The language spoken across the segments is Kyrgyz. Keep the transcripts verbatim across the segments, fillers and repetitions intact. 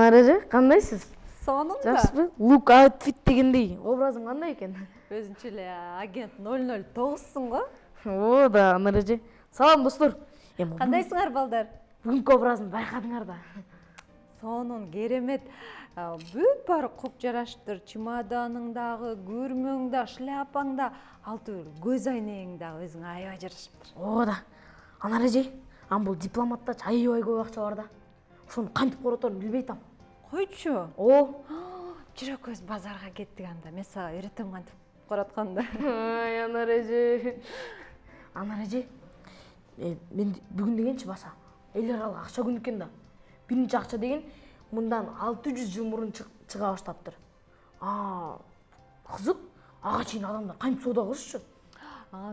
Анареже, кандайсыз? Сонун да. Жакшыбы? Look outfit дегендей образың кандай экен? Өзүнчө эле агент ноль ноль тогузсуң го? О да, Анареже. Салам достор. Кандайсыңар балдар? Бүгүнкү образымды байкадыңар да. Сонун, керемет. Бүт баары коп жараштыр. Чемоданың дагы, күрмөң да, шляпаң да, алты көз айнегиң дагы өзүңө аябай жарашыптыр. О да. Анареже, ам бул дипломаттачы аябай көп акча бар да. Ошону кантип короторун билбей атам. Койчу. О, жүрө көз базарга кеттик анда. Мен сага үйрөтөм кантип коротканды. Ай, Анареже. Анареже, мен бүгүн дегенчи баса эл аралык акча күнү экен да. Биринчи акча деген мындан алты жүз жыл мурун чыга баштаптыр. А, кызык. Ага чейин адамдар кантип соода кылышчу?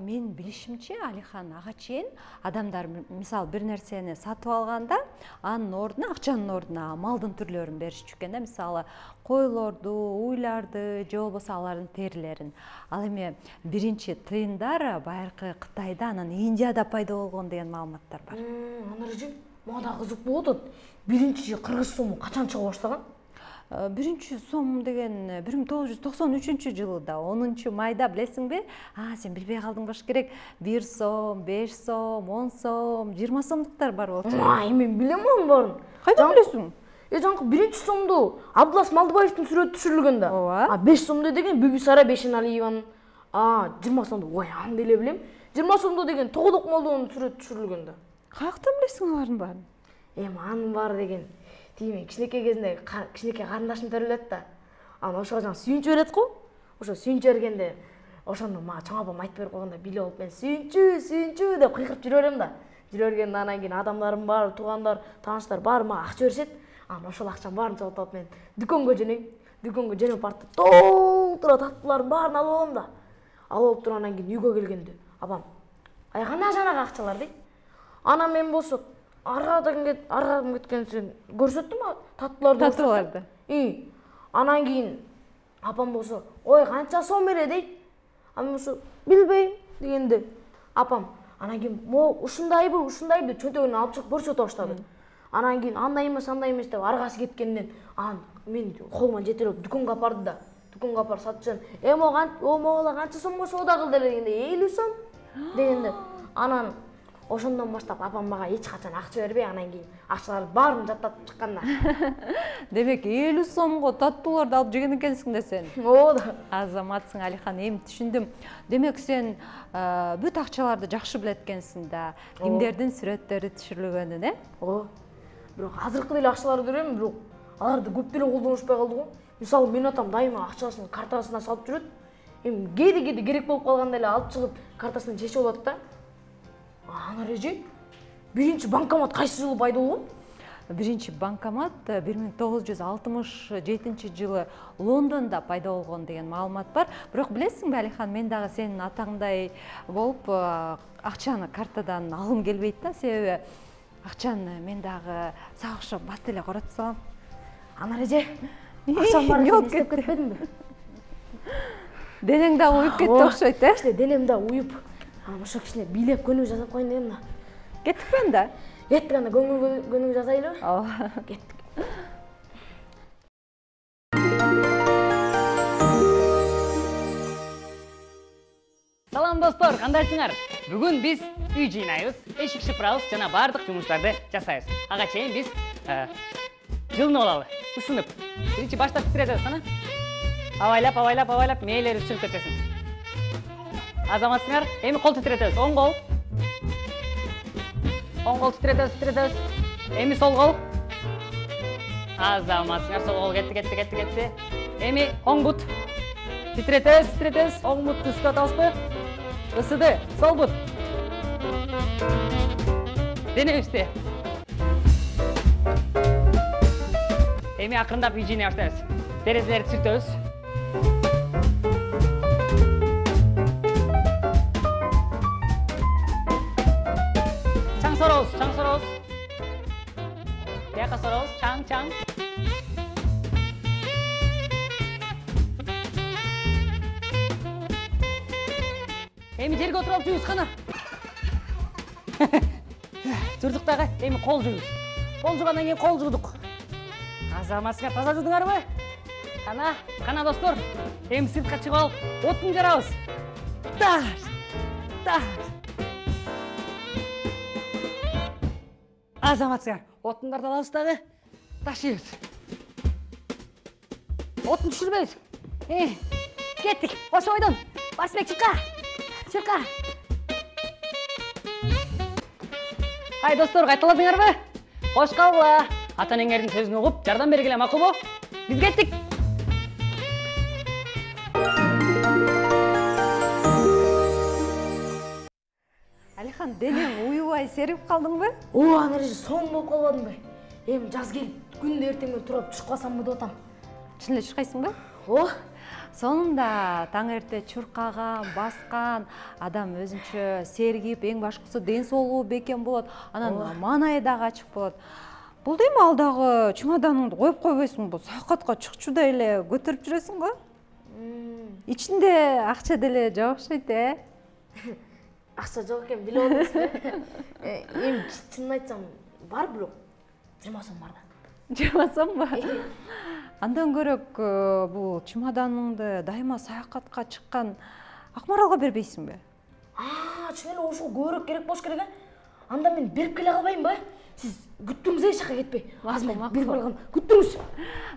Мен билишимче, Алихан, ага чейин адамдар мисалы бир нерсени сатып алганда, анын ордуна, акчанын ордуна малдын түрлөрүн беришчү экен да. Мисалы, койлорду, уйларды, же болбосо алардын терилерин. Ал эми биринчи тыйындар байыркы Кытайда, анан Индияда пайда болгон деген маалыматтар бар. Анареже, мага да кызык болуп атат. Биринчи кыргыз сому качан чыга баштаган? Биринчи сом деген бир миң тогуз жүз токсон үчүнчү жылда, онунчу майда, билесиңби? А, сен билбей калдың болуш керек. бир сом, беш сом, он сом, жыйырма сомдуктар бар болчу. Ай, мен билем анын баарын. Кайдан билесиң? Э, жаңкы биринчи сомду Абдулас Малдыбаевдин сүрөтү түшүрүлгөн да. Ооба. А беш сомду деген Бүбүсара Бешеналиеванын. А, жыйырма сомду, ой, аны деле билем. жыйырма сомду деген Тогодок Молдонун сүрөтү түшүрүлгөн да. Каяктан билесиң алардын баарын? Эми анын баары деген тиме кичинекей кезинде кичинекей карындашым төрөлөт да. Анан ошого жаңы сүйүнчү берет го. Ошо сүйүнчү бергенде ошону мага чоң апам айтып берип койгондо билип алып мен сүйүнчү, сүйүнчү деп кыйкырып жүрө берем да. Жүрө бергенде анан кийин адамдарым бар, туугандар, тааныштар баары мага акча беришет. Анан ошол акчанын баарын чогултуп алып мен дүкөнгө жөнөйм. Дүкөнгө жөнөп барып толтура таттуулардын баарын алып алам да. Алып алып туруп анан кийин үйгө келгенде апам: "Ай, кандай жанагы акчалар?" дейт. Анан мен болсо аргадан кет, аргадан кеткен сен көрсөттүм таттууларды. Таттууларды. И, анан кийин апам болсо: "Ой, канча сом эле?" дейт. Анан болсо: "Билбейм" дегенде апам анан кийин "Мо ушундайбы, ушундайбы" чөнтөгүнөн алып чыгып көрсөтө баштады. Анан кийин андай эмес, андай эмес деп аргасы кеткенден анан мен колума жетелеп дүкөнгө алып барды да. Дүкөнгө алып барып сатчан: "Э, моган, о, могула канча сомго соода кыл" дегенде элүү сом дегенде анан ошондон баштап апам мага эч качан акча бербей, анан кийин акчалардын баарын жаттатып чыккан да. Демек элүү сомго таттууларды алып жеген экенсиң да сен. О да. Азаматсың, Алихан, эми түшүндүм. Демек сен бүт акчаларды жакшы билет экенсиң да. Кимдердин сүрөттөрү түшүрүлгөнүн, э? О. Бирок азыркы деле акчаларды көрөм, бирок аларды көп деле колдонушпай калды го. Мисалы, менин атам дайыма акчасын картасына салып жүрөт. Эми кээде-кээде керек болуп калганда эле алып чыгып картасынан чечип алат да. Анареже, биринчи банкомат кайсы жылы пайда болгон? Биринчи банкомат бир миң тогуз жүз алтымыш жетинчи жылы Лондонда пайда болгон деген маалымат бар. Бирок билесиңби, Алихан, мен дагы сенин атаңдай болуп акчаны картадан алгым келбейт да, себеби акчаны мен дагы сага окшоп бат эле коротуп салам. Анареже, акчам бар экен, эстеп кетпедимби? Денең дагы уюп кетти окшойт, э? Кичине денем да уюп. Анан ошо кичине бийлеп көнүгүү жасап коеюн дегем да. Кеттикпи анда? Кеттик, анда көңүл көнүгүү жасайлыбы? Ооба. Кеттик. Салам достор, кандайсыңар? Бүгүн биз үй жыйнайбыз, эшик шыпырабыз жана бардык жумуштарды жасайбыз. Ага чейин биз жылынып алалы, ысынып. Биринчи баштап титиретебиз, кана? Абайлап, абайлап, абайлап, мээлери чыгып кетесин. Азаматсыңар, эми кол титиретебиз. Оң кол. Оң кол титиретебиз, титиретебиз. Эми сол кол. Азаматсыңар, сол кол кетти, кетти, кетти, кетти. Эми оң бут. Титиретебиз, титиретебиз. Оң бутты ысытабызбы? Ысыды. Сол бут. Денебизби? Эми акырындап үй жыйнай баштайбыз. Терезелерди сүртөбүз. Чаң сорабыз, чаң сорабыз. Бияка сорабыз, чаң, чаң. Эми жерге отуруп алып жуйбуз, кана. Журдук дагы, эми кол жуйбуз. Кол жуугандан кийин кол жуудук. Азаматсыңар таза жудуңарбы? Кана, кана достор, эми сыртка чыгып алып, отун жарабыз. Таш, таш. Азаматсыңар, отундарды алабыз дагы, ташыйбыз. Отун түшүрбөйбүз. Э, кеттик, ошо бойдон. Басбек чыкка, чыкка. Ай достор, кайталадыңарбы? Кош калгыла. Ата-энеңердин сөзүн угуп, жардам бергиле, макулбу? Биз кеттик. Алихан, денең уюбай серип калдыңбы? О, анереже соң болуп калбадыңбы? Эми жаз келип, күндө эртең менен туруп чуркасамбы деп атам. Чын эле чуркайсыңбы? О, Сонунда таң эрте чуркаган, баскан адам өзүнчө сергип, эң башкысы ден соолугу бекем болот. Анан маанайы дагы ачык болот. Бул дейм ал дагы чемоданыңды коюп койбойсуңбу? Саякатка чыкчудай эле көтөрүп жүрөсүңбү? Ичинде акча деле жок окшойт, э? акча жок экен, билип атасызбы? Эми чынын айтсам, бар бирок жыйырма сом бар да. жыйырма сомбу? Андан көрөк бул чемоданыңды дайыма саякатка чыккан Акмаралга бербейсиңби? А, чын эле ошого көбүрөөк керек болуш керек, э? Анда мен берип келе калбаймынбы? Сиз күттүңүз, эч жака кетпей. Азыр мен берип алгам. Күттүңүз.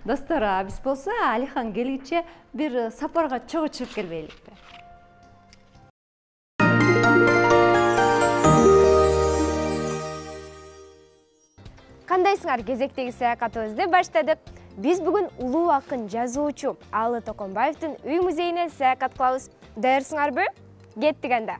Достор, биз болсо Алихан келгиче бир сапарга чогуу чыгып келбейликпи? Кандайсыңар? Кезектеги саякатыбызды баштадык. Биз бүгүн улуу акын, жазуучу Алы Токонбаевдин үй музейине саякат кылабыз. Даярсыңарбы? Кеттик анда.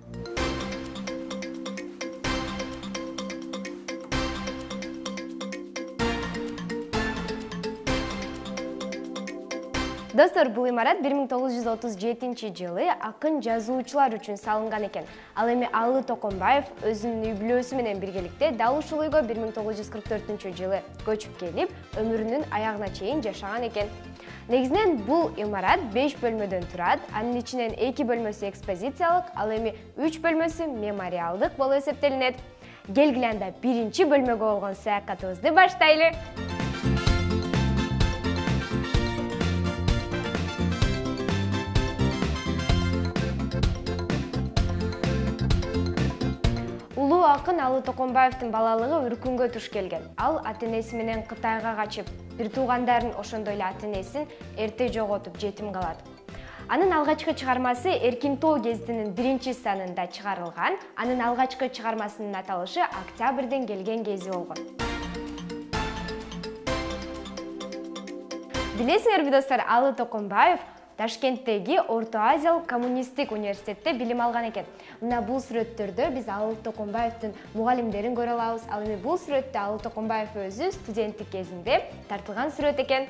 Достор, бул имарат бир миң тогуз жүз отуз жетинчи жылы акын жазуучулар үчүн салынган экен. Ал эми Алы Токонбаев өзүнүн үй бүлөсү менен биргеликте дал ушул үйгө бир миң тогуз жүз кырк төртүнчү жылы көчүп келип, өмүрүнүн аягына чейин жашаган экен. Негизинен бул имарат беш бөлмөдөн турат. Анын ичинен эки бөлмөсү экспозициялык, ал эми үч бөлмөсү мемориалдык болуп эсептелинет. Келгиле анда биринчи бөлмөгө болгон саякатыбызды баштайлы. Улуу акын Алы Токонбаевдин балалыгы Үркүнгө туш келген. Ал ата-энеси менен Кытайга качып, бир туугандарын ошондой эле ата-энесин эрте жоготуп, жетим калат. Анын алгачкы чыгармасы Эркин тоо гезитинин биринчи санында чыгарылган. Анын алгачкы чыгармасынын аталышы Октябрден келген кези болгон. Билесиңерби достор, Алы Токонбаев Ташкенттеги Орто Азиялык коммунисттик университетте билим алган экен. Мына бул сүрөттөрдө биз Алы Токонбаевдин мугалимдерин көрө алабыз. Ал эми бул сүрөттө Алы Токонбаев өзү студенттик кезинде тартылган сүрөт экен.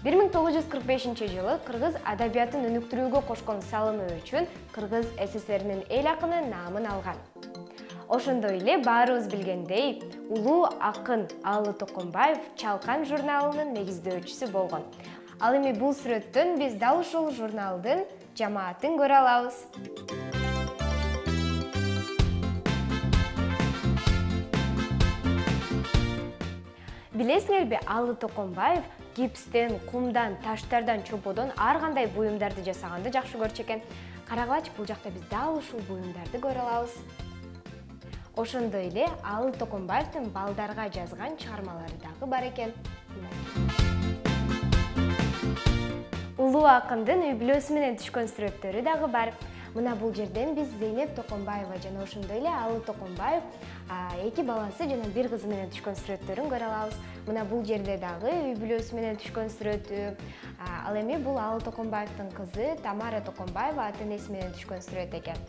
бир миң тогуз жүз кырк бешинчи жылы кыргыз адабиятын өнүктүрүүгө кошкон салымы үчүн Кыргыз СССРинин эл акыны наамын алган. Ошондой эле баарыбыз билгендей, улуу акын Алы Токонбаев Чалкан журналынын негиздөөчүсү болгон. Ал эми бул сүрөттөн биз дал ушул журналдын жамаатын көрө алабыз. Билесиңерби, Алы Токонбаев гипстен, кумдан, таштардан, чоподон ар кандай буюмдарды жасаганды жакшы көрчү экен. Карагылачы, бул жакта биз дал ушул буюмдарды көрө алабыз. Ошондой эле Алы Токонбаевдин балдарга жазган чыгармалары дагы бар экен. Улуу акындын үй бүлөсү менен түшкөн сүрөттөрү дагы бар. Мына бул жерден биз Зейнеп Токонбаева жана ошондой эле Алы Токонбаев эки баласы жана бир кызы менен түшкөн сүрөттөрүн көрө алабыз. Мына бул жерде дагы үй бүлөсү менен түшкөн сүрөтү. Ал эми бул Алы Токонбаевдин кызы Тамара Токонбаева ата-энеси менен түшкөн сүрөт экен.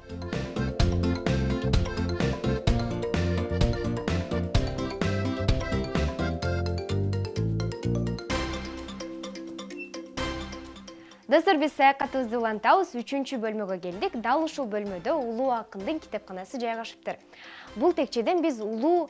Достор, биз саякатыбызды улантабыз, үчүнчү бөлмөгө келдик. Дал ушул бөлмөдө улуу акындын китепканасы жайгашыптыр. Бул текчеден биз улуу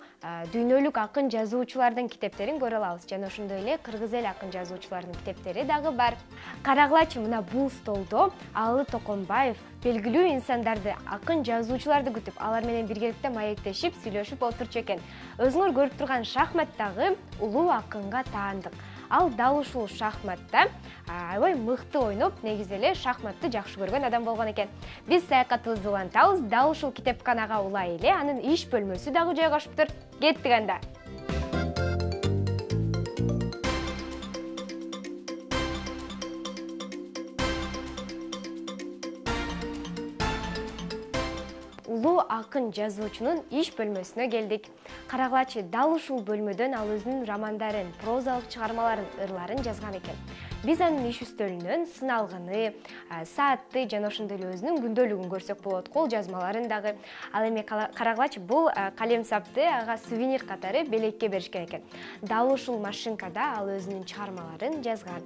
дүйнөлүк акын жазуучулардын китептерин көрө алабыз. Жана ошондой эле кыргыз эл акын жазуучуларынын китептери дагы бар. Карагылачы мына бул столдо Алы Токонбаев белгилүү инсандарды, акын жазуучуларды күтүп, алар менен биргеликте маектешип, сүйлөшүп отурчу экен. Өзүңөр көрүп турган шахматтагы улуу акынга таандык. Ал дал ушул шахматта аябай мыкты ойноп, негизи эле шахматты жакшы көргөн адам болгон экен. Биз саякатыбызды улантабыз, дал ушул китепканага улай эле анын иш бөлмөсү дагы жайгашыптыр. Кеттик анда. Улуу акын жазуучунун иш бөлмөсүнө келдик. Карагылачы, дал ушул бөлмөдөн ал өзүнүн романдарын, прозалык чыгармаларын, ырларын жазган экен. Биз анын иш үстөлүнөн сыналганы, саатты жана ошондой эле өзүнүн күндөлүгүн көрсөк болот, кол жазмаларын дагы. Ал эми карагылачы, бул калем сапты ага сувенир катары белекке беришкен экен. Дал ушул машинкада ал өзүнүн чыгармаларын жазган.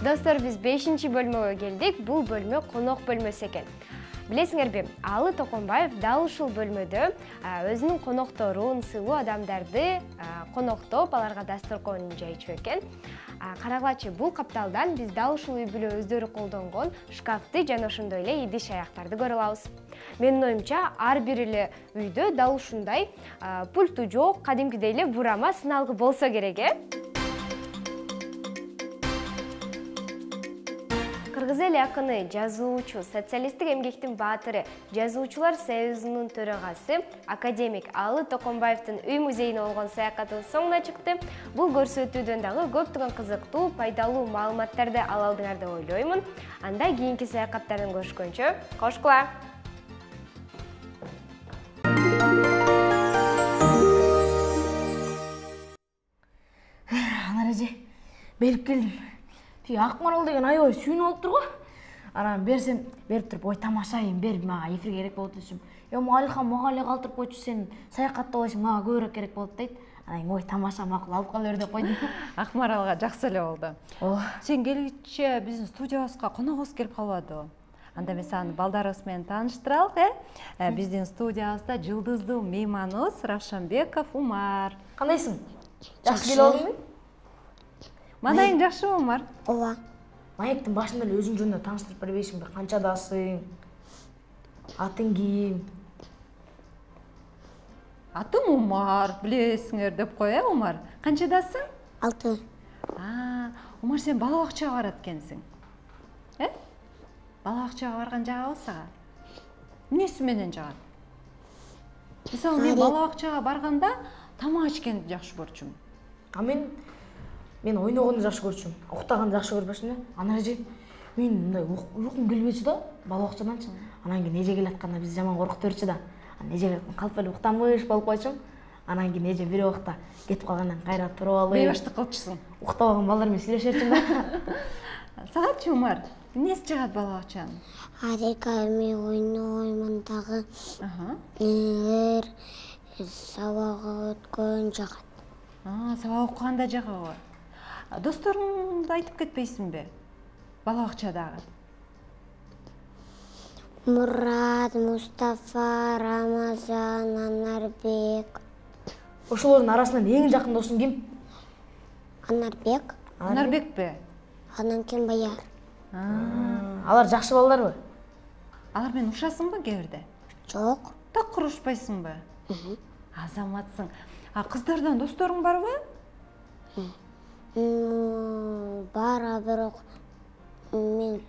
Достор, биз бешинчи бөлмөгө келдик. Бул бөлмө конок бөлмөсү экен. Билесиңерби, Алы Токонбаев дал ушул бөлмөдө өзүнүн конокторун, сыйлуу адамдарды коноктоп, аларга дасторкон жайчу экен. Карагылачы, бул капталдан биз дал ушул үй бүлө өздөрү колдонгон шкафты жана ошондой эле идиш аяктарды көрө алабыз. Менин оюмча, ар бир эле үйдө дал ушундай пульту жок, кадимкидей эле бурама сыналгы болсо керек, э? Кыргыз эл акыны, жазуучу, социалисттик эмгектин баатыры, жазуучулар союзунун төрагасы, академик Алы Токонбаевдин үй музейине болгон саякатыбыз соңуна чыкты. Бул көрсөтүүдөн дагы көптөгөн кызыктуу, пайдалуу маалыматтарды ала алдыңар деп ойлоймун. Анда кийинки саякаттардан көрүшкөнчө, кошкула! Анар эже, берип келдим. Тиги Акмарал деген аябай сүйүнүп алыптыр го. Анан берсем, берип туруп, ой тамашайын, берип мага эфирге керек болот десем. Эми Алихан мага эле калтырып койчу, сен саякаттап алышың мага көбүрөөк керек болот дейт. Анан ой тамаша, макул, алып кала бер деп койдум. Акмаралга жакшы эле болду. Ооба. Сен келгиче биздин студиябызга коногубуз келип калбадыбы? Анда мен саны балдарыбыз менен тааныштыралык, э? Биздин студиябызда жылдыздуу мейманыбыз Равшанбеков Умар. Кандайсың? Жакшы келип алдыңбы? Мандайың жакшыбы, Умар? Ооба. Маектин башында эле өзүң жөнүндө тааныштырып бербейсиңби? Канчадасың? Атың ким? Атым Умар, билесиңер деп кой, э, Умар? Канчадасың? Алты. А, Умар, сен бала бакчага барат экенсиң. Э? Бала бакчага барган жагабы сага? Эмнеси менен жагат? Мисалы, мен бала бакчага барганда тамак ичкенди жакшы көрчүмүн. А мен мен ойногонду жакшы көрчүмүн. Уктаганды жакшы көрбөчүмүн. Анан эже мен мындай уйкум келбечү да, бала бакчаданчы. Анан кийин эже келатканда биз жаман коркуп берчү да. Анан эже калп эле уктамыш болуп койчумун. Анан кийин эже бир убакта кетип калгандан кайра туруп алып, Бейбаштык кылчусуң. Уктабаган балдар менен сүйлөшөрчүм да. Сагачы, Умар, эмнеси жагат бала бакчанын? Арека мен ойноймун дагы. Аха. Эр сабак өткөн жагат. А, сабак окуганда жагабы? Досторуңду айтып кетпейсиңби? Бала бакчадагы. Мурат, Мустафа, Рамазан, Анарбек. Ошолордун арасынан эң жакын досуң ким? Анарбек. Анарбекпи? Анан кийин Баяр. Алар жакшы балдарбы? Алар менен ушасыңбы кээ бирде? Жок. Так урушпайсыңбы? Азаматсың. А кыздардан досторуң барбы? Бар, бирок мен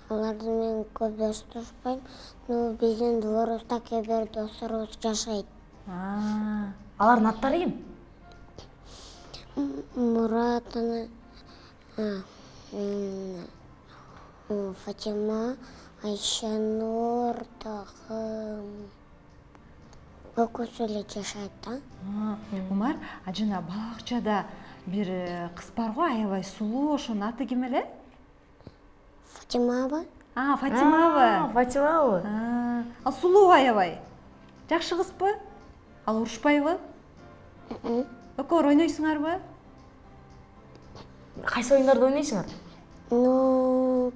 аларды мен көп достоошпойм. Но биздин дворубузда кээ бир досторубуз жашайт. Алардын аттары ким? Мурат, Фатима, Айшанур дагы экөөсү эле жашайт да. Умар, а жана бала бакчада бир кыз бар го, аябай сулуу, ошонун аты ким эле? Фатимабы? А, Фатимабы. Фатимабы. Ал сулуу аябай. Жакшы кызбы? Ал урушпайбы? Экөөөр ойнойсуңарбы? Кайсы оюндарды ойнойсуңар? Ну,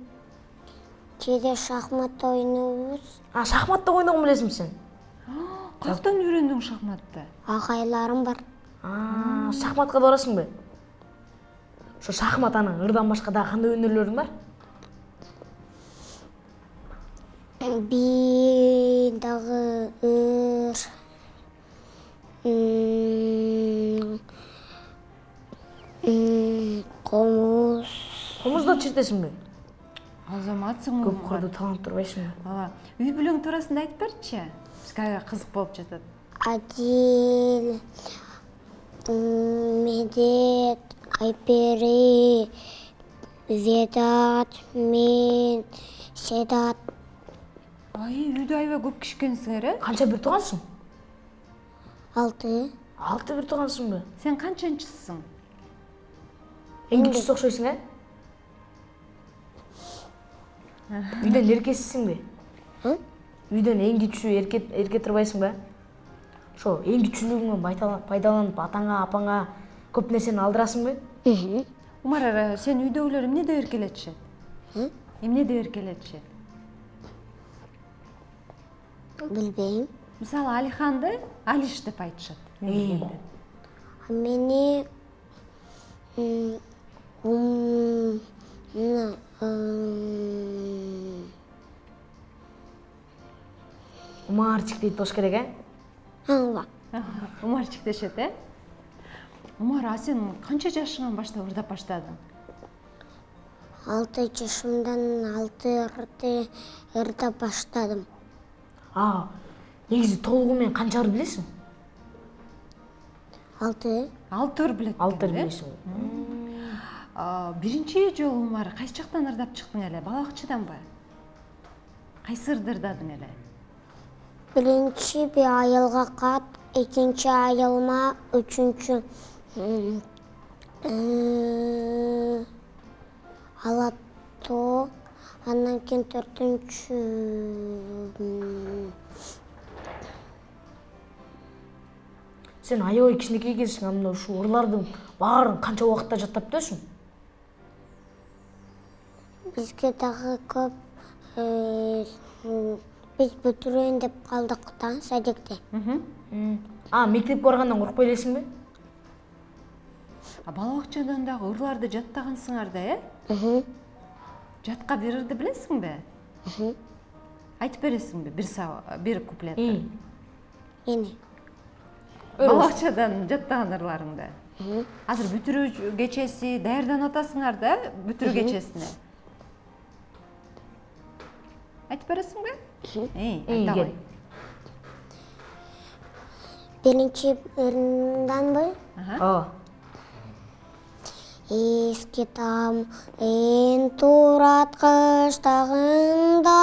кээде шахмат ойнойбуз. А, шахматты ойногон билесиңби сен? Каяктан үйрөндүң шахматты? Агайларым бар. А, шахматка да барасыңбы? Ошо шахмат анан ырдан башка дагы кандай өнөрлөрүң бар? Би дагы ыр, комуз. Комузду чертесиңби? Азаматсың Көп кырдуу таанып турбайсыңбы? Ооба. Үй бүлөң туурасында айтып берчи. Бизге кызык болуп жатат. Адил, Медет, Айпери, Ведат, мен, Седат. Ай, үйдө аябай көп киши экенсиңер, э? Канча бир туугансың? Алты. Алты бир туугансыңбы? Сен канчанчысың? Эң кичүүсү окшойсуң, э? Үйдөн эркесисиңби? Үйдөн эң кичүү эрке эрке турбайсыңбы? Ошо эң кичүүлүгүңөн пайдаланып атаңа, апаңа көп нерсени алдырасыңбы? Умар, сен үйдөгүлөр эмне деп эркелетишет? Эмне деп эркелетишет? Билбейм. Мисалы, Алиханды Алиш деп айтышат. Э. Мени ум Умарчик дейт болуш керек, э? Ооба. Умарчик дешет, э? Умар, а сен канча жашыңан баштап ырдап баштадың? Алты жашымдан алты ырды ырдап баштадым. А, негизи толугу менен канча ыр билесиң? Алты. Алты ыр билет. Алты ыр билесиң. Биринчи жолу Умар кайсы жактан ырдап чыктың эле? Балакчыданбы? Кайсы ырды ырдадың эле? Биринчи би айылга кат, экинчи айылма, үчүнчү ала тоо, андан кийин төртүнчү Сен аябай кичинекей экенсиң, анда ушул ырлардын баарын канча убакытта жаттап бүтөсүң? бизге дагы көп биз бүтүрөйүн деп калдык да садикте. А, мектепке баргандан коркпой элесиңби? А балабакчадан дагы ырларды жаттагансыңар да, э? Жатка бир ырды билесиңби? Айтып бересиңби бир бир куплетти? Эне. Балабакчадан жаттаган ырларыңды. Азыр бүтүрүү кечеси даярданып атасыңар да, бүтүрүү кечесине. Айтып бересиңби? Эй, айта кой. Биринчи ырынданбы? Ооба. Эски там эн турат кыштагында,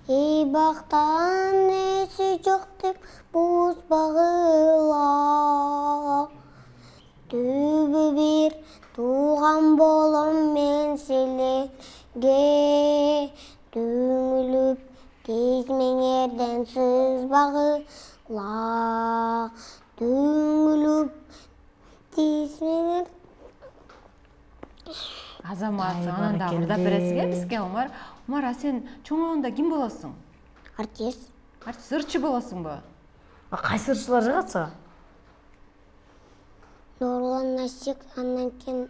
эй бактан эси жок деп буз багыла. Түбү бир тууган болом мен силерге, түңүлүп тез меңерден сызбагыла. Түңүлүп тез меңер. Азаматсың, анан дагы ырдап бересиң, бизге, Умар. Умар, а сен чоңойгондо ким болосуң? Артист. Артист, ырчы болосуңбу? А кайсы ырчылар жагат сага? Нурлан Насик, андан кийин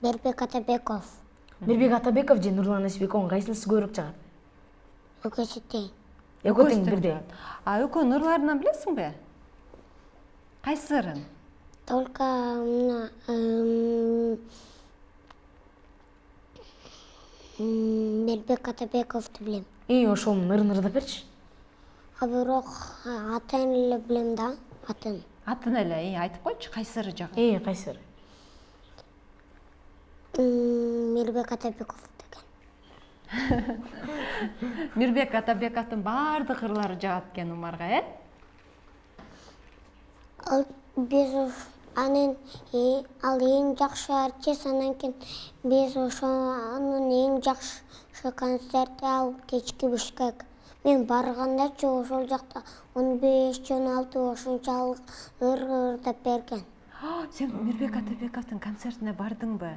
Бербек Атабеков. Мирбек Атабеков же Нурлан Насибековдун кайсынысы көбүрөөк жагат? Экөөсү тең. Экөө тең бирдей. А экөөнүн ырларынан билесиңби? Кайсы ырын? Только мына Бербек Атабековду билем. И ошонун ырын ырдап берчи. А бирок атын эле билем да, атын. Атын эле айтып койчу, кайсы ыры жагат? Э, кайсы ыры? Мирбек Атабеков деген. Мирбек Атабековдун баардык ырлары жагат экен Умарга, э? Ал биз анын ал эң жакшы артист, анан кийин биз ошонун эң жакшы концерти ал кечки Бишкек. Мен баргандачы ошол жакта он беш он алты ошончолук ыр ырдап берген. Сен Мирбек Атабековдун концертине бардыңбы?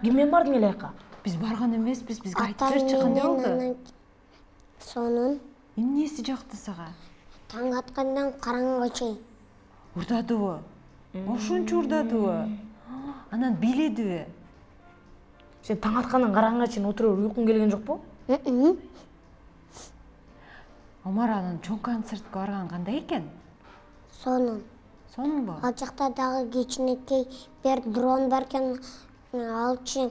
Ким менен бардың эле аякка? Биз барган эмеспиз, бизге айтып берчи кандай болду? Сонун Эмнеси жакты сага? таң аткандан караңгыга чейин. Урдадыбы? Ошончо урдадыбы? Анан бийледиби? Сен таң аткандан караңгыга чейин отуруп уйкуң келген жокпу? Омар анан чоң концертке барган кандай экен? Сонун. Сонунбу? Ал жакта дагы кичинекей бир дрон бар экен. Алчы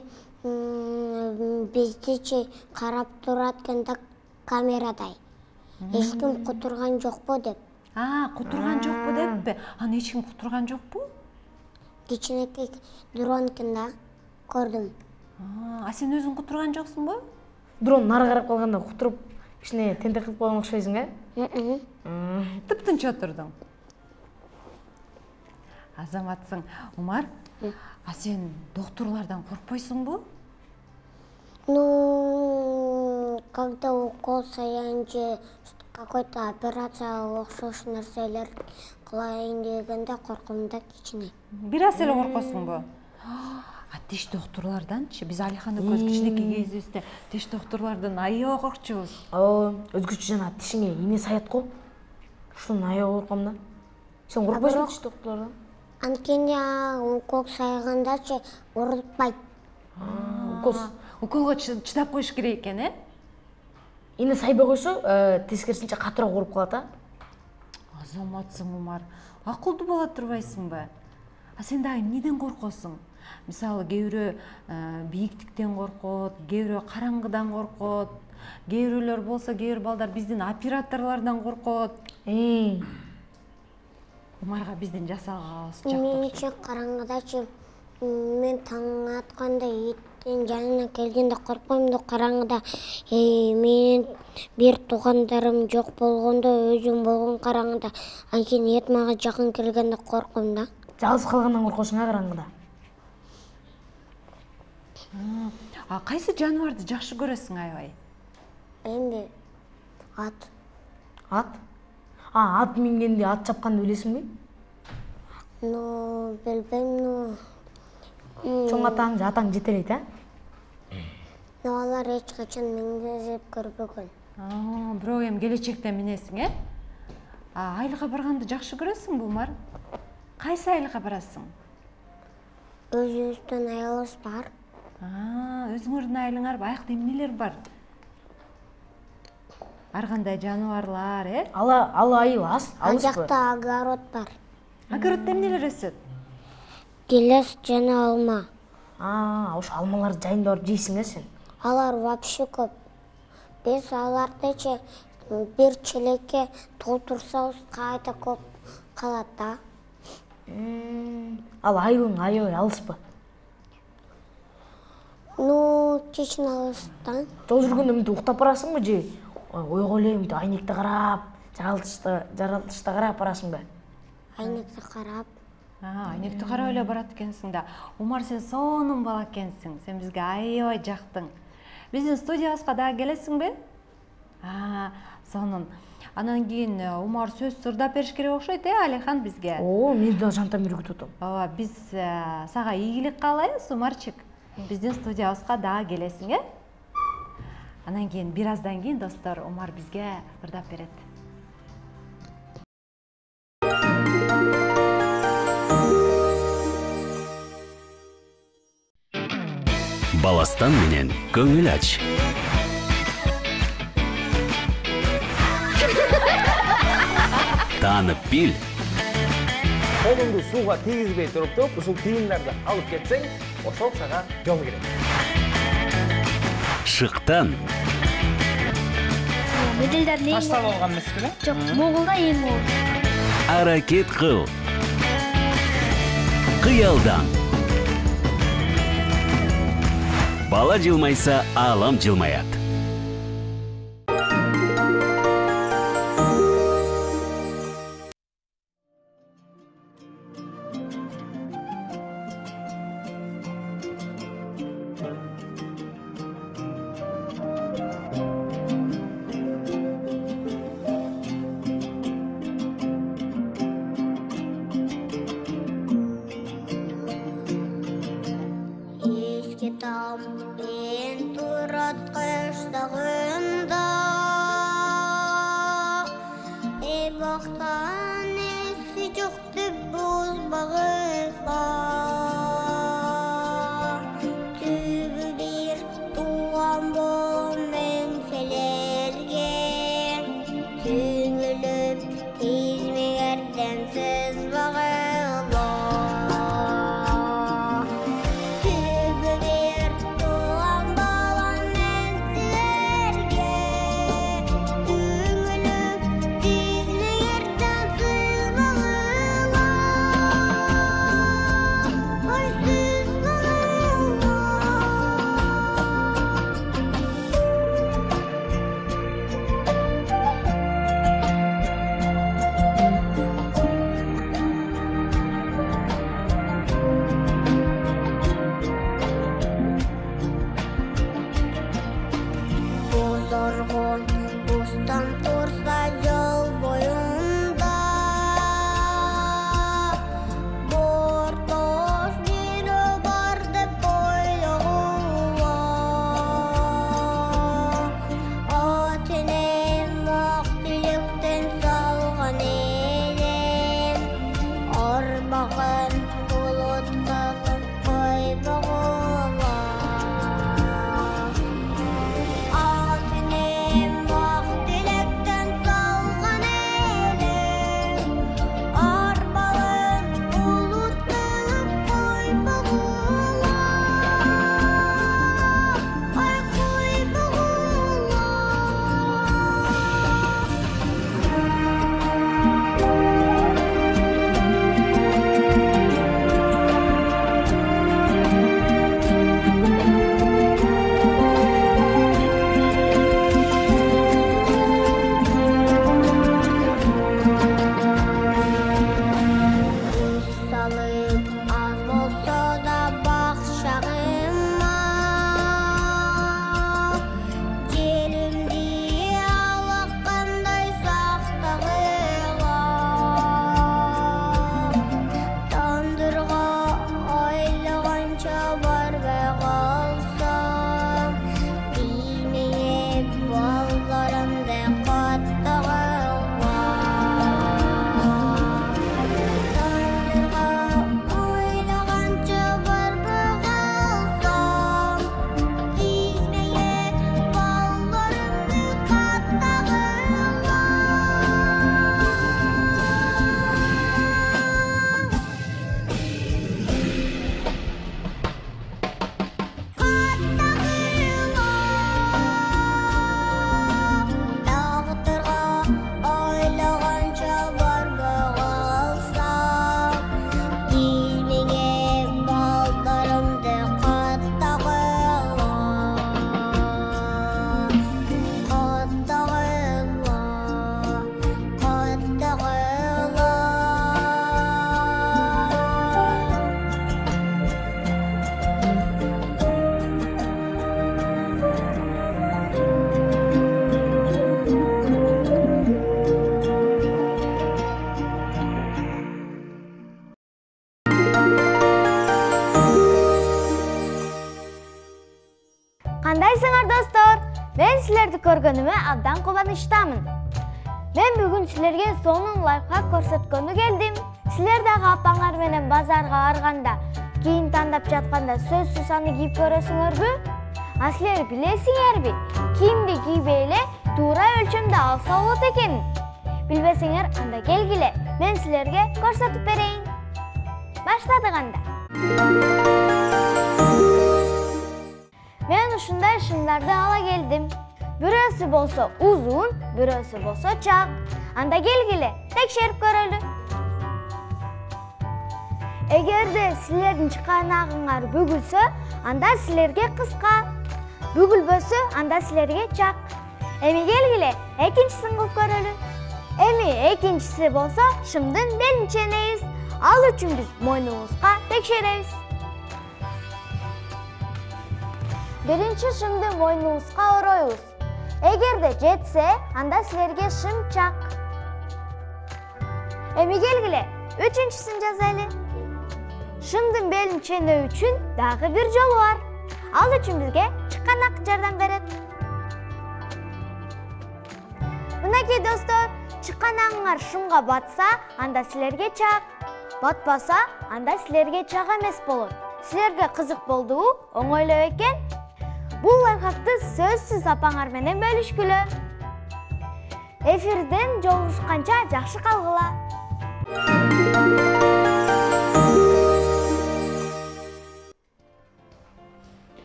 биздичи карап турат экен да камерадай. Эч ким кутурган жокпу деп. А, кутурган жокпу деппи? Аны эч ким кутурган жокпу? Кичинекей дрон экен да көрдүм. А сен өзүң кутурган жоксуңбу? Дрон нары карап калганда кутуруп кичине тентек кылып койгон окшойсуң, э? Тыптынч отурдуң. Азаматсың. Умар, а сен доктурлардан коркпойсуңбу? Ну, когда укол саян же какой-то операция окшош нерселер кылайын дегенде корком да кичине. Бир аз эле коркосуңбу? А тиш доктурларданчы? Биз Алихан экөөбүз кичинекей кезибизде тиш доктурлардан аябай коркчубуз. Ооба, өзгөчө жана тишиңе ийне саят го. Ушундан аябай корком да. Сен коркпойсуңбу тиш доктурлардан? Анткени укол сайгандачы урутпайт. Укол Уколго чыдап коюш керек экен, э? ийне сайбай койсо, тескерисинче катыраак ооруп калат, а? Азаматсың, Умар. Акылдуу боло турбайсыңбы? А сен дагы эмнеден коркосуң? Мисалы, кээ бирөө бийиктиктен коркот, кээ бирөө караңгыдан коркот, кээ бирөөлөр болсо, кээ бир балдар биздин операторлордон коркот. Умарга биздин жасалганыбыз жакты. Менче караңгыдачы мен таң атканда иттин жанына келгенде коркпойм да, караңгыда менин бир туугандарым жок болгондо, өзүм болгон караңгыда, анткени эт мага жакын келгенде корком да. Жалгыз калгандан коркосуң, а караңгыда? А кайсы жаныбарды жакшы көрөсүң аябай? Эми ат. Ат? А, ат мингенди, ат чапканды билесиңби? Ну, билбейм, ну. Чоң атаң же атаң жетелейт, а? Ну, алар эч качан мингизип көрбөгөн. А, бирок эми келечекте минесиң, э? А айылга барганды жакшы көрөсүңбү, Умар? Кайсы айылга барасың? Өзүбүздүн айылыбыз бар. А, өзүңөрдүн айылыңар аякта эмнелер бар? Ар кандай жаныбарлар, э? Ала, ала айыл аз, Ал алыспы? жакта огород бар. Огороддо эмнелер өсөт? Гелес жана алма. А, ошо алмаларды жайында барып жейсиң, э сен? Алар вообще көп. Биз алардычы бир челекке толтурсабыз кайда көп калат да. Ал айылың аябай алыспы? Ну, чечин алыстан. Жол жүргөндө мынтип уктап барасыңбы же ойго эле мынтип айнекти карап, жаратылышты карап барасыңбы? Айнекти карап. А, айнекти карап эле барат экенсиң да. Умар, сен сонун бала экенсиң. Сен бизге аябай жактың. Биздин студиябызга дагы келесиңби? А, сонун. Анан кийин Умар сөз сырдап бериш керек окшойт, э, Алихан бизге. О, мен да жантан бери күтүп атам. Ооба, биз сага ийгилик каалайбыз, Умарчык. Биздин студиябызга дагы келесиң, э? Анан кийин бир аздан кийин достор Умар бизге ырдап берет. Баластан менен көңүл ач. Таанып бил. Колуңду сууга тийгизбей туруп, ушул тыйымдарды алып кетсең, ошол сага жол керек. Шыктан. Медалдардын эң Ташта болгон эмеспи? жок, Моголда эң оор. Аракет кыл. Кыялдан. Бала жылмайса, алам жылмаят. там мен турат кыштагында. Эй бактан эси жокты бузбагыла. Түбү бир туган болом мен силерге. Түңүлүп измеңерден сызбагыла. Зоргон бустан турса жол боюнда. Бортош бири бар деп ойлогула. Атенем ак тилектен салган элем. Арбаган булутка койбогула. Кандайсыңар достор? Мен силерди көргөнүмө абдан кубанычтамын. Мен бүгүн силерге сонун лайфхак көрсөткөнү келдим. Силер дагы апаңар менен базарга барганда, кийим тандап жатканда сөзсүз аны кийип көрөсүңөрбү? А силер билесиңерби? Кийимди кийбей эле туура өлчөмдө алса болот экен. Билбесеңер, анда келгиле, мен силерге көрсөтүп берейин. Баштадык анда. Мен ушундай шымдарды ала келдим. Бирөөсү болсо узун, бирөөсү болсо чак. Анда келгиле, текшерип көрөлү. Эгерде силердин чыканагыңар бүгүлсө, анда силерге кыска. Бүгүлбөсө, анда силерге чак. Эми келгиле, экинчисин кылып көрөлү. Эми экинчиси болсо шымдын белин ченейбиз. Ал үчүн биз мойнубузга текшеребиз. Биринчи шымды мойнубузга оройбуз. Эгерде жетсе, анда силерге шым чак. Эми келгиле, үчүнчүсүн жазайлы. Шымдын белин ченөө үчүн дагы бир жолу бар. ал үчүн бизге чыканак жардам берет. Мынакей достор, чыканагыңар шумга батса, анда силерге чак. Батпаса, анда силерге чак эмес болот. Силерге кызык болдубу? Оңойлоо экен. Бул лайфхакты сөзсүз апаңар менен бөлүшкүлө. Эфирден жолугушканча жакшы калгыла.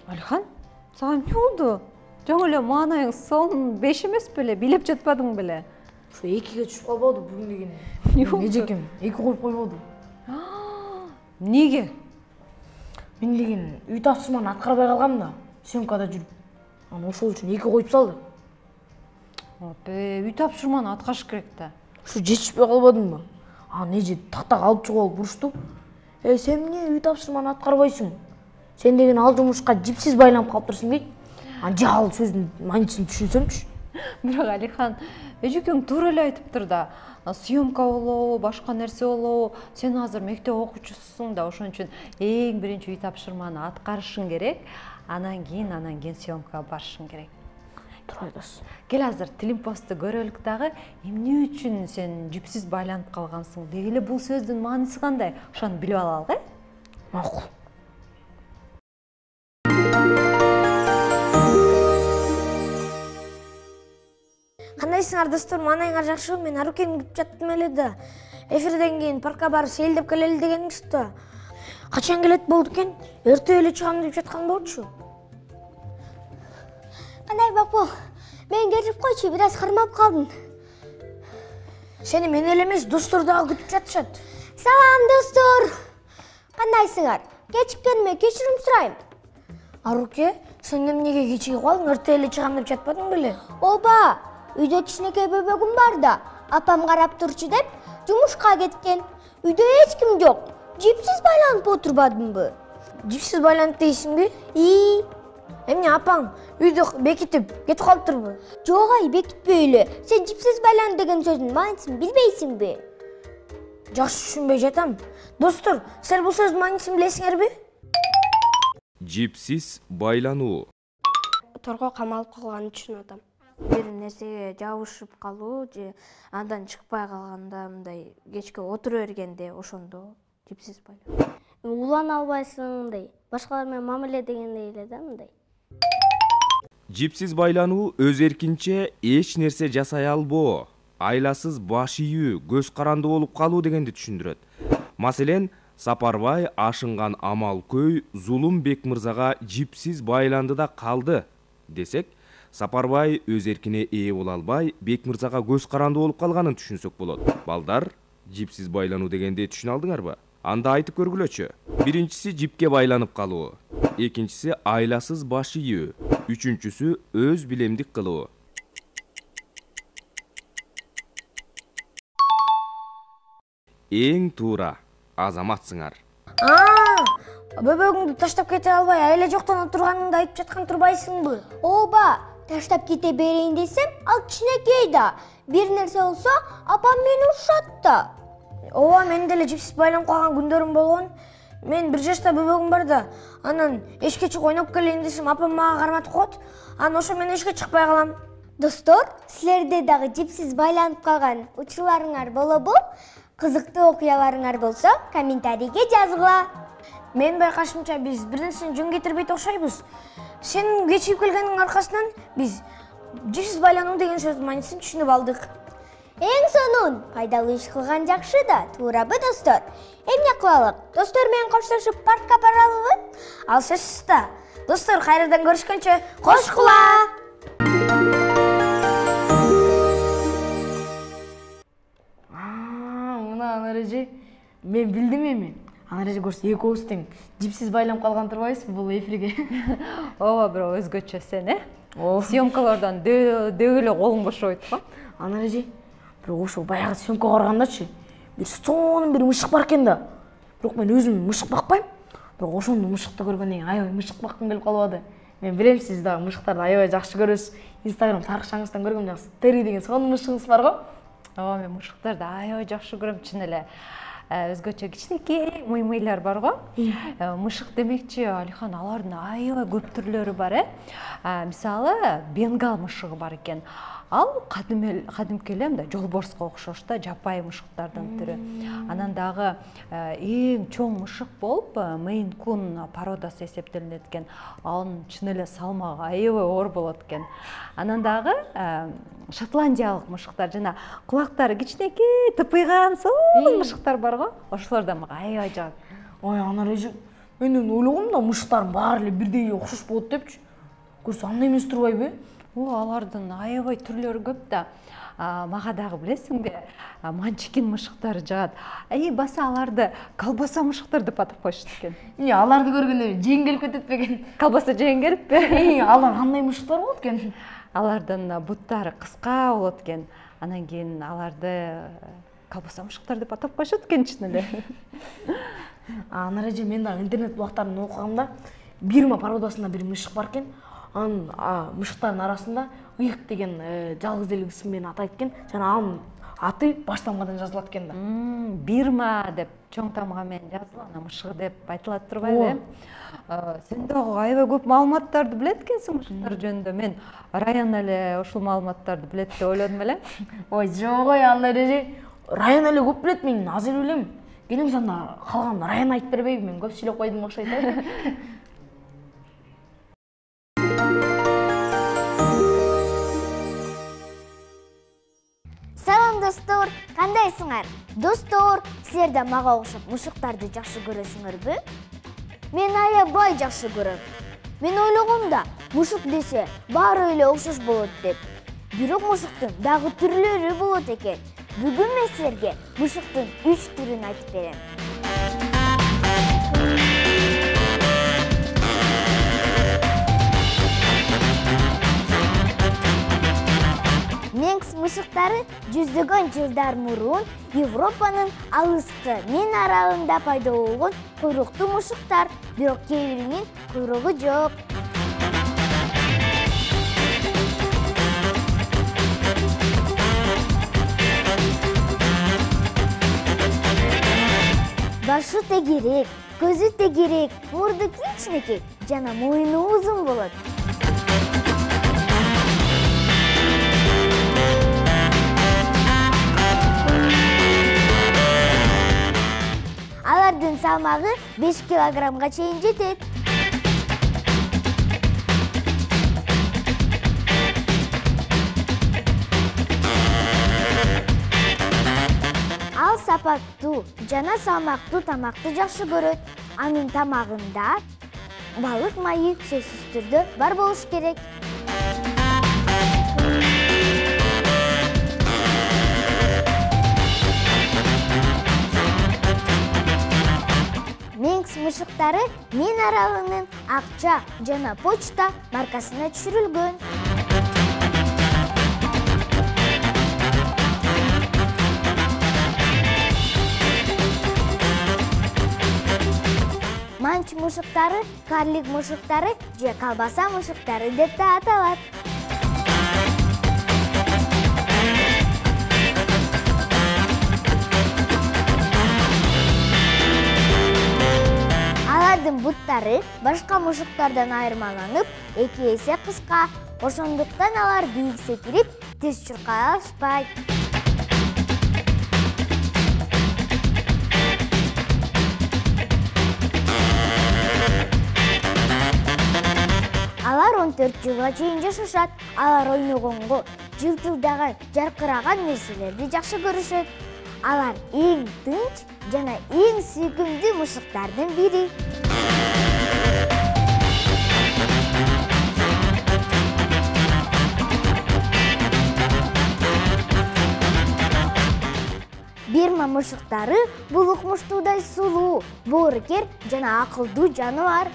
Алихан, сага эмне болду? Жаңы эле маанайың сон беш эмес беле, билеп жатпадың беле? Ушу экиге түшүп калбады бүгүн деген. Эмне болду? Эжекем эки коюп койбоду. Эмнеге? Мен деген үй тапшырманы аткарбай калгам да, съемкада жүрүп. Аны ошол үчүн эки коюп салды. Апе, үй тапшырманы аткарыш керек да. Ушу жетишпей калбадыңбы? Аны эже тактак алып чыгып алып урушту. Эй, сен эмне үй тапшырманы аткарбайсың? Сен деген ал жумушка жипсиз байланып калыптырсың дейт. Аны жал сөздүн мааниsin түшүнсөмчү. Бирок Алихан, эжекең туура эле айтыптыр да. Съемка болобу, башка нерсе болобу, сен азыр мектеп окуучусуң да, ошон үчүн эң биринчи үй тапшырманы аткарышың керек, анан кийин анан кийин съемкага барышың керек. Туура айтасың. Кел азыр Тилимпосту көрөлүк дагы, эмне үчүн сен жипсиз байланып калгансың? Дегеле бул сөздүн мааниси кандай? Ошону билип алалы, э? Макул. Кандайсыңар достор, маанайыңар жакшыбы? Мен Арукени күтүп жаттым эле да. Эфирден кийин паркка барып сейилдеп келели дегенбиз да. Качан келет болду экен? Эртең эле чыгам деп жаткан болчу. Кандай бапу? Мен кетип койчу, бир аз кармап калдым. Сени мен эле эмес, достор дагы күтүп жатышат. Салам достор. Кандайсыңар? Кечиккениме кечирим сурайм. Аруке, сен эмнеге кечигип калдың? Эртең эле чыгам деп жатпадың беле? Ооба, үйдө кичинекей бөбөгүм бар да, апам карап турчу деп жумушка кеткен. Үйдө эч ким жок. Жипсиз байланып отурбадымбы? Жипсиз байланып дейсиңби? И, эмне апаң үйдө бекитип кетип калыптырбы? жок ай, бекитпей эле. Сен жипсиз байлан деген сөздүн маанисин билбейсиңби? Жакшы түшүнбөй жатам. Достор, силер бул сөздүн маанисин билесиңерби? Жипсиз байлануу. Торго камалып калган үчүн атам. Бир нерсеге жабышып калуу же андан чыкпай калганда мындай кечке отура бергенде ошондо жипсиз байлануу. Улана албайсың, башкалар менен мамиле дегендей эле да мындай. Жипсиз байлануу өз эркинче эч нерсе жасай албоо, айласыз баш ийүү, көз каранды болуп калуу дегенди түшүндүрөт. Маселен, Сапарбай ашынган амал көй Зулум Бек мырзага жипсиз байланды да калды десек, Сапарбай өз эркине ээ боло албай, Бек мырзага көз каранды болуп калганын түшүнсөк болот. Балдар, жипсиз байлануу дегенди түшүнө алдыңарбы? Анда айтып көргүлөчү. Биринчиси жипке байланып калуу, экинчиси айласыз баш ийүү, үчүнчүсү өз билемдик кылуу. Эң туура азаматсыңар. Аа, бөбөгүңдү таштап кете албай, айла жоктон отурганыңды айтып жаткан турбайсыңбы? Ооба, таштап кете берейин десем, ал кичинекей да. Бир нерсе болсо, апам мени урушат да. Ооба, мен деле жипсиз байланып калган күндөрүм болгон. Мен бир жашта бөбөгүм бар да, анан эшикке чыгып ойноп келейин десем, апам мага карматып коет. Анан ошо менен эшикке чыкпай калам. Достор, силерде дагы жипсиз байланып калган учурларыңар болобу? Кызыктуу окуяларыңар болсо, комментарийге жазгыла. Мен байкашымча биз бир нерсени жөн кетирбейт окшойбуз. Сен кечигип келгениңдин аркасынан биз жипсиз байлануу деген сөздүн маанисин түшүнүп алдык. Эң сонун, пайдалуу иш кылган жакшы да, туурабы достор? Эмне кылалык? Достор менен коштошуп паркка баралыбы? Ал сөзсүз да. Достор, кайрадан көрүшкөнчө кош кула. Анарежи, мен билдим эми. Анарежи көрсө эки ооз тең жипсиз байланып калган турбайсызбы бул эфирге? Ооба, бирок өзгөчө сен, э? Съемкалардан дөг эле колуң бошобойт го. Анарежи, бирок ошо баягы съемкага баргандачы, бир сонун бир мышык бар экен да. Бирок мен өзүм мышык бакпайм. Бирок ошондо мышыкты көргөндөн кийин аябай мышык баккым келип калбады. Мен билем, сиз дагы мышыктарды аябай жакшы көрөсүз. Инстаграм тарыкчаңыздан көргөм, жакшы Тери деген сонун мышыгыңыз бар го. Ооба, мен мышыктарды аябай жакшы көрөм чын эле. өзгөчө кичинекей мыймыйлар бар го. Мышык демекчи Алихан, алардын аябай көп түрлөрү бар э. Мисалы, бенгал мышыгы бар экен. Ал кадимки эле мындай жолборско окшош да, жапайы мышыктардын түрү. Анан дагы эң чоң мышык болуп Мейн Кун породасы эсептелинет экен. Анын чын эле салмагы аябай оор болот экен. Анан дагы шотландиялык мышыктар, жана кулактары кичинекей, тыпыйган сонун мышыктар бар го. Ошолор да мага аябай жагат. Ой, Анар эже, мен ойлогом да мышыктардын баары эле бирдей окшош болот депчи. Көрсө андай эмес турбайбы? О, алардын аябай түрлөрү көп да. Мага дагы билесиңби, манчикин мышыктары жагат. Эй, баса аларды колбаса мышыктар деп атап коюшат экен. Эмне, аларды көргөндө жең келип кетет бекен? Колбаса жең келиппи? Алар кандай мышыктар болот экен? Алардын буттары кыска болот экен. Анан кийин аларды колбаса мышыктар деп атап коюшат экен чын эле. Анар эже, мен дагы интернет булактарын окугамда Бирма породасында бир мышык бар экен. Анын мышыктардын арасында ыйык деген жалгыз эле ысым менен атайт экен. Жана анын аты баш тамгадан жазылат экен да. Бирма деп чоң тамга менен жазылган мышыгы деп айтылат турбайбы? Сен дагы аябай көп маалыматтарды билет экенсиң мышыктар жөнүндө. Мен Раян эле ушул маалыматтарды билет деп ойлодум эле. Ой, жок ой, андай эже. Раян эле көп билет, мен аз эле билем. Келиң санда калган Раян айтып бербейби? Мен көп сүйлөп койдум окшойт э. Салам достор, кандайсыңар? Достор, силер да мага окшоп мышыктарды жакшы көрөсүңөрбү? Мен аябай жакшы көрөм. Мен ойлогом да, мышык десе баары эле окшош болот деп. Бирок мышыктын дагы түрлөрү болот экен. Бүгүн мен силерге мышыктын үч түрүн айтып берем. Менкс мышыктары жүздөгөн жылдар мурун Европанын алыскы мен аралында пайда болгон куйруктуу мышыктар, бирок кээ биринин куйругу жок. Башы тегерек, көзү тегерек, мурду кичинекей жана мойну узун болот. Алардын салмагы беш килограммга чейин жетет. Ал сапаттуу жана салмактуу тамакты жакшы көрөт. Анын тамагында балык майы сөзсүз түрдө бар болуш керек. Менкс мышыктары Мен аралынын Акча жана Почта маркасына түшүрүлгөн. Манч мышыктары карлик мышыктары же колбаса мышыктары деп да аталат. Алардын буттары башка мышыктардан айырмаланып, эки эсе кыска. Ошондуктан алар бийик секирип, тез чуркай алышпайт. Алар он төрт жылга чейин жашашат. Алар ойногонго, жылтылдаган, жаркыраган нерселерди жакшы көрүшөт. Алар эң тынч жана эң сүйкүмдүү мышыктардын бири. Бирма мышыктары бул укмуштуудай сулуу, боорукер жана акылдуу жаныбар.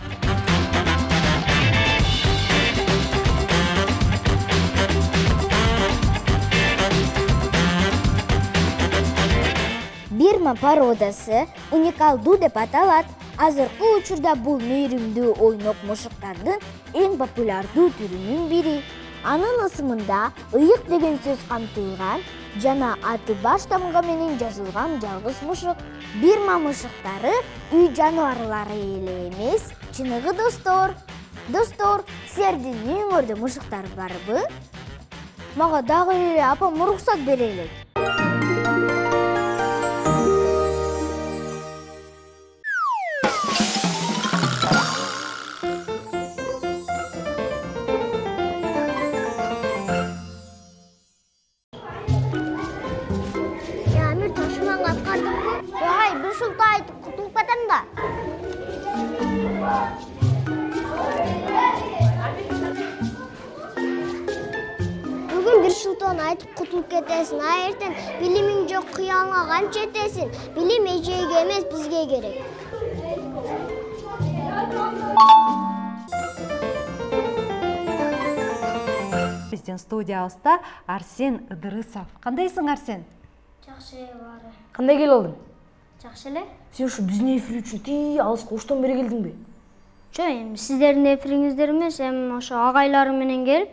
Бирма породасы уникалдуу деп аталат. Азыркы учурда бул мээримдүү ойнок мышыктардын эң популярдуу түрүнүн бири. Анын ысымында ыйык деген сөз камтылган, жана аты баш тамга менен жазылган жалгыз мушук. Бирма мушуктары үй жаныбарлары эле эмес, чыныгы достор. Достор, силердин үйүңөрдө мушуктар барбы? Мага дагы эле апам уруксат бере элек. Амир ташынан аткардыңбы? Ай, бир шулта айтып кутулуп кетем да. Бүгүн бир шылтоон айтып кутулуп кетесиң, а эртең билимиң жок кыялыңа канча жетесиң? Билим эжеге эмес, бизге керек. Биздин студиябызда Арсен Ыдырысов. Кандайсың, Арсен? Жакшы баары. Кандай келип алдың? Жакшы эле. Сен ушу биздин эфир үчүн тии алыска оштон бери келдиңби? Жок, эми сиздердин эфириңиздер эмес, эми ошо агайларым менен келип,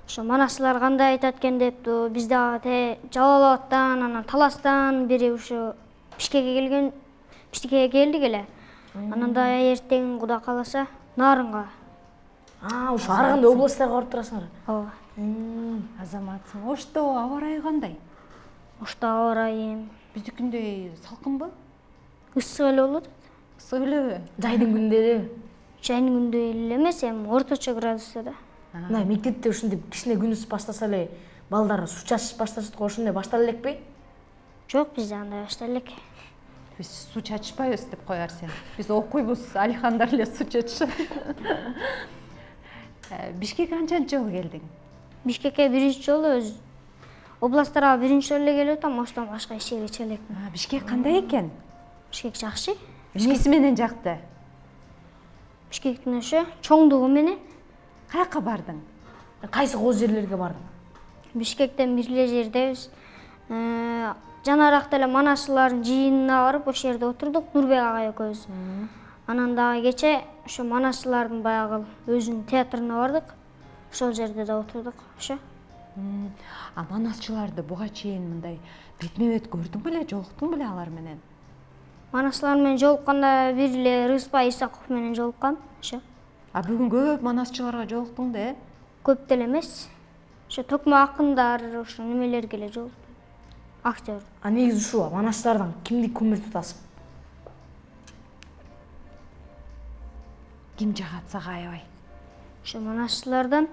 ошо манасчылар кандай айтат экен депту. Биз дагы Жалал Абадтан, анан Таластан бери ушу Бишкекке келген, Бишкекке келдик эле. Анан да эртең Кудай кааласа Нарынга. А, ушу ар кандай областтарга барып турасыңар. Ооба. Азаматсың. Ошто аба ырайы кандай? Ошто аба ырайы биздикиндей салкынбы? Ысык эле болот. Ысык элеби? Жайдын күндө эле. Жайдын күндө эле эмес, эми орточо градуста да. Мына мектепте ушундай кичине күн ысып баштаса эле балдар суу чачыш башташат го, ошондой баштала элекпи? Жок, бизде андай баштала элек. Биз суу чачышпайбыз деп кой, Арсен. Биз окуйбуз, Алихандар эле суу чачышат. Бишкекке канчанчы жолу келдиң? Бишкекке биринчи жолу өз областтарга биринчи жолу эле келип атам, оштон башка эч жерге чыга элекмин. Бишкек кандай экен? Бишкек жакшы. Эмнеси менен жакты? Бишкектин ошо чоңдугу менен. Каяка бардың? Кайсы кооз жерлерге бардың? Бишкектен бир эле жердебиз. Жанаракта эле манасчылардын жыйынына барып, ошол жерде отурдук, Нурбек агай экөөбүз. Анан дагы кече ошо манасчылардын баягы өзүнүн театрына бардык. Ошол жерде да отурдук, ошо. А манасчыларды буга чейин мындай бетме-бет көрдүң беле, жолуктуң беле алар менен? Манасчылар менен жолукканда бир эле Рыспай Исаков менен жолуккам, ошо. А бүгүн көп манасчыларга жолуктуң да, э? Көп деле эмес. Ошо токмо акындар, ошо немелерге эле жолуктум. Актер. А негизи ушул манасчылардан кимди көмүр тутасың? Ким жагат сага аябай? Ошо манасчылардан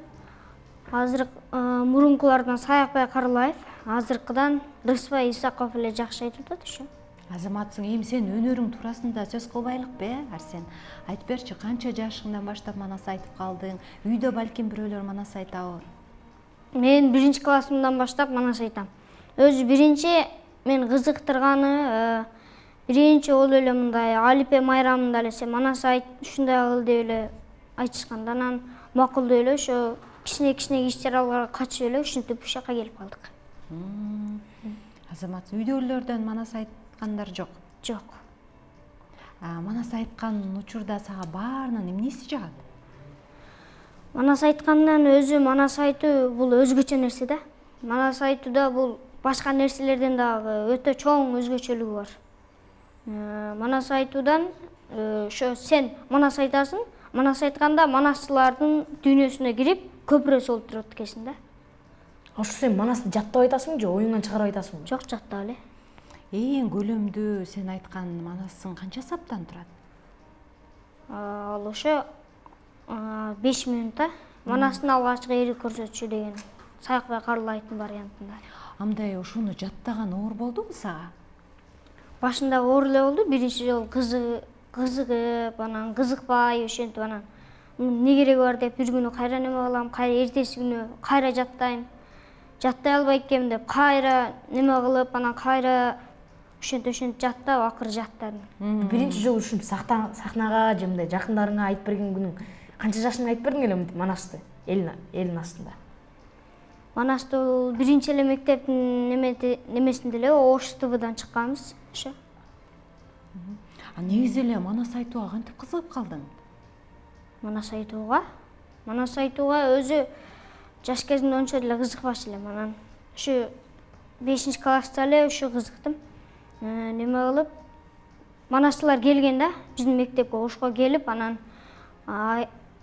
азыр мурункулардан Саякбай Карлаев, азыркыдан Рыспай Исаков эле жакшы айтып атат, ошо. Азаматсың, эми сен өнөрүң туурасында сөз кылбайлыкпы, э, Арсен? Айтып берчи, канча жашыңдан баштап манас айтып калдың? Үйдө балким бирөөлөр манас айтабы? Мен биринчи классымдан баштап манас айтам. Өзү биринчи мен кызыктырганы, биринчи ол эле мындай Алипе майрамында эле сен манас айт, ушундай кыл деп эле айтышканда, анан макул деп эле ошо кичине-кичине иш-чараларга катышып эле ушинтип ушул жака келип калдык. Азамат, үйдөгүлөрдөн манас айткандар жок? Жок. Манас айткан учурда сага баарынан эмнеси жагат? Манас айткандан өзү манас айтуу бул өзгөчө нерсе да. Манас айтууда бул башка нерселерден дагы өтө чоң өзгөчөлүгү бар. Манас айтуудан ошо сен манас айтасың, манас айтканда манасчылардын дүйнөсүнө кирип көпүрө болуп турат экенсиң да. Ошо сен манасты жаттап айтасыңбы же оюңдан чыгарып айтасыңбы? Жок, жаттап эле. Эң көлөмдүү сен айткан манасың канча саптан турат? Ал ошо беш минутта манастын алгачкы эри көрсөтүшү деген Саякбай Карлаевдин вариантында. Андай ошону жаттаган оор болдубу сага? Башында оор эле болду, биринчи жолу кызыгып, анан кызыкпай ошентип анан эмне кереги бар деп бир күнү кайра неме кылам, кайра эртеси күнү кайра жаттайм. Жаттай албай экенмин деп кайра неме кылып, анан кайра ошентип ошентип жаттап, акыры жаттадым. Биринчи жолу ушинтип сахнага же мындай жакындарыңа айтып берген күнүң канча жашыңда айтып бердиң эле манасты элдин астында? Манасты бул биринчи эле мектептин немесинде эле Ош ТВдан чыкканбыз, ошо. А негизи эле манас айтууга кантип кызыгып калдың? Манас айтууга? Манас айтууга өзү жаш кезимде ончо деле кызыкпачу элем. Анан ушу бешинчи класста эле ушу кызыктым. Неме кылып манасчылар келген да, биздин мектепке ошко келип, анан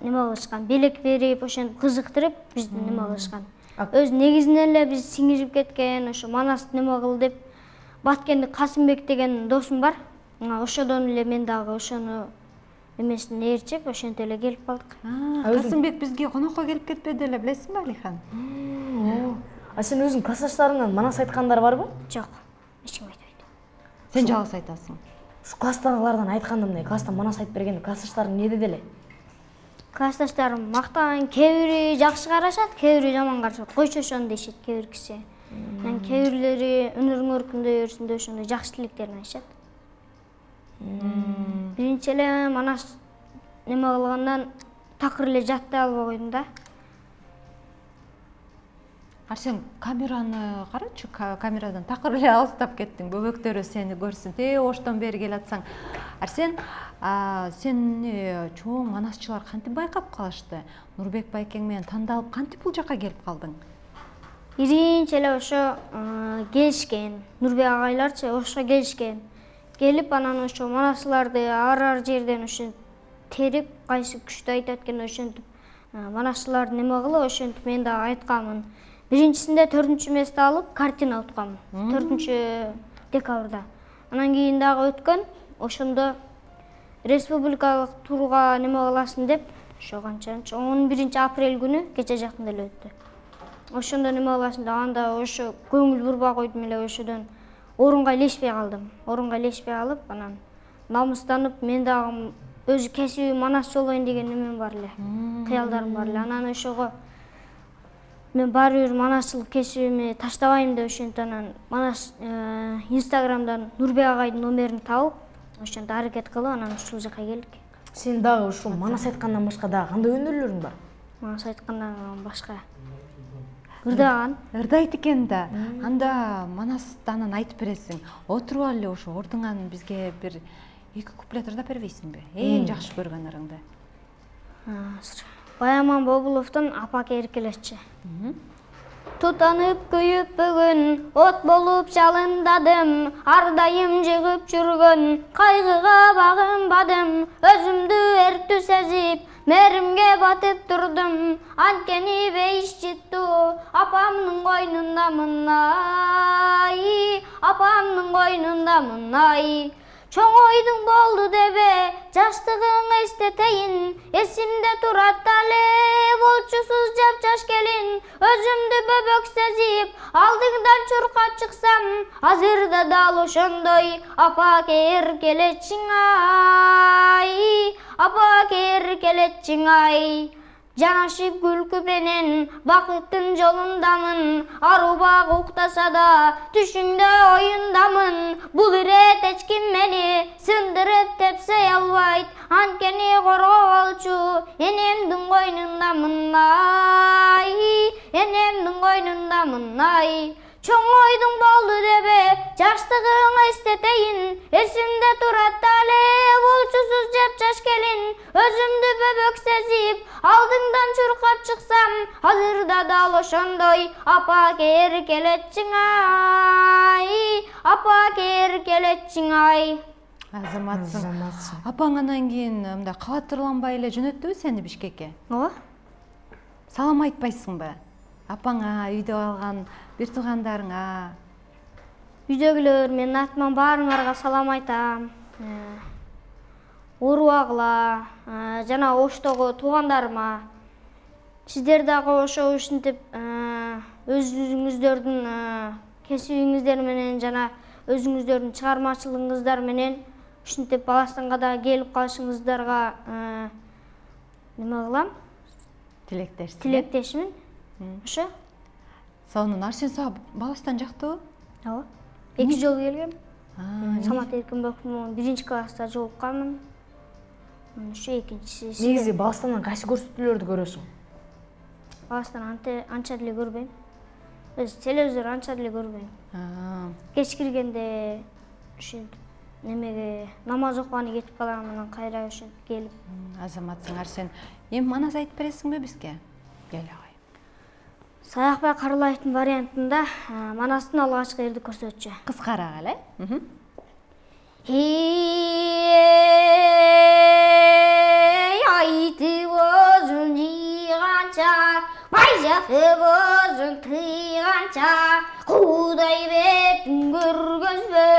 неме кылышкан, белек берип, ошентип кызыктырып бизди неме кылышкан. Өз негизинен эле биз сиңирип кеткен, ошо манас неме кыл деп Баткендик Касымбек деген досум бар. Ошодон эле мен дагы ошону эмесин ээрчип, ошентип эле келип калдык. Касымбек бизге конокко келип кетпеди эле, билесиңби Алихан? А сен өзүң классташтарыңдан манас айткандар барбы? Жок, эч ким айтпайт. Сен жалгыз айтасың. Ушу класстагылардан айтканда мындай, класста манас айтып бергенде классташтарың эмне деди эле? Классташтарым мактаган, кээ бири жакшы карашат, кээ бири жаман карашат. Койчу ошону дешет кээ бир киши. Анан кээ бирлери өнөрүң өркүндөй берсин деп ошондой жакшы тилектерин айтышат. Биринчи эле манас неме кылгандан такыр эле жаттай албай койдум да. Арсен, камераны карачы, камерадан такыр эле алыстап кеттиң. Бөбөктөрү сени көрсүн. Те оштон бери келатсаң. Арсен, сени чоң манасчылар кантип байкап калышты? Нурбек байкең менен тандалып кантип бул жака келип калдың? Биринчи эле ошо келишкен. Нурбек агайларчы ошо келишкен. Келип анан ошо манасчыларды ар-ар жерден ошо терип, кайсы күчтүү айтат экен ошентип манасчылар неме кылып, ошентип мен дагы айтканмын. Биринчисинде төртүнчү месте алып, картина утканмын. төртүнчү декабрда. Анан кийин дагы өткөн, ошондо республикалык турга неме кыласың деп, ошо канчанчы он биринчи апрель күнү кече жакында эле өттү. Ошондо неме кыласың деп, анда ошо көңүл бурбай койдум эле, ошодон орунга илешпей калдым. Орунга илешпей алып, анан намыстанып, мен дагы өзү кесиби манасчы болоюн деген немем бар эле. Кыялдарым бар эле. Анан ошого мен баары бир манасчылык кесибими таштабайм деп ошентип анан манас Инстаграмдан Нурбек агайдын номерин табып, ошентип аракет кылып, анан ушул жака келдик. Сен дагы ушул манас айткандан башка дагы кандай өнөрлөрүң бар? Манас айткандан башка ырдаган. Ырдайт экен да. Анда манастан айтып бересиң. Отуруп алып ошо ордуңан бизге бир эки куплет ырдап бербейсиңби? Эң жакшы көргөн ырыңды. Баяман Бобуловдун Апак эркелеччи. Тутанып күйүп бүгүн, от болуп жалындадым, ар дайым жыгып жүргөн, кайгыга багынбадым, өзүмдү эрктүү сезип, мээримге батып турдум, анткени бейиш жыттуу, апамдын койнундамын ай, апамдын койнундамын ай. Чоң ойдуң болду дебе, жаштыгың эстетейин, эсимде турат дале, болчусуз жап-жаш келин, өзүмдү бөбөк сезип, алдыңдан чуркап чыксам, азырда дал ошондой, апак эркелечиң ай, апак эркелечиң ай. Жанашып күлкү менен бакыттын жолундамын, арубак уктаса да түшүңдө оюндамын. Бул ирет эч ким мени сындырып тепсей албайт, анткени коргоп алчу энемдин койнундамын ай, энемдин койнундамын ай. Чоң ойдуң болду дебе, жаштыгың эстетейин, эсимде турат дале, болчусуз жап-жаш келин, өзүмдү бөбөк сезип, алдыңдан чуркап чыксам, азырда дал ошондой, апак эркелечиң ай, апак эркелечиң ай. Азаматсың. Апаң анан кийин мындай кабаттырланбай эле жөнөттүбү сени Бишкекке? Ооба. Салам айтпайсыңбы? Апаңа, үйдө калган бир туугандарыңа? Үйдөгүлөр менин атыман баарыңарга салам айтам. Урубагыла, жана Оштогу туугандарыма. Сиздер дагы ошо ушинтип өзүңүздөрдүн кесибиңиздер менен жана өзүңүздөрдүн чыгармачылыгыңыздар менен ушинтип Баластанга да келип калышыңыздарга неме кылам? Тилектешсиң. Тилектешмин. Ошо. Сонун Арсен сага Баластан жактыбы? Ооба. Эки жолу келгем. Самат Эркинбековдун биринчи класста жолукканмын. Ошо экинчиси. Негизи Баластандан кайсы көрсөтүүлөрдү көрөсүң? Баластан анча деле көрбөйм. Өз телевизор анча деле көрбөйм. Кеч киргенде ушинтип немеге намаз окуганы кетип калам, анан кайра ошентип келип. Азаматсың Арсен. Эми манас айтып бересиңби бизге? Кел агай. Саякбай Карылаевдин вариантында Манастын алгачкы эрди көрсөтчү. Кыскараак эле. Эй, айтып өзүн жыйганча, байжатып өзүн тыйганча, Кудай бетин көргөзбө,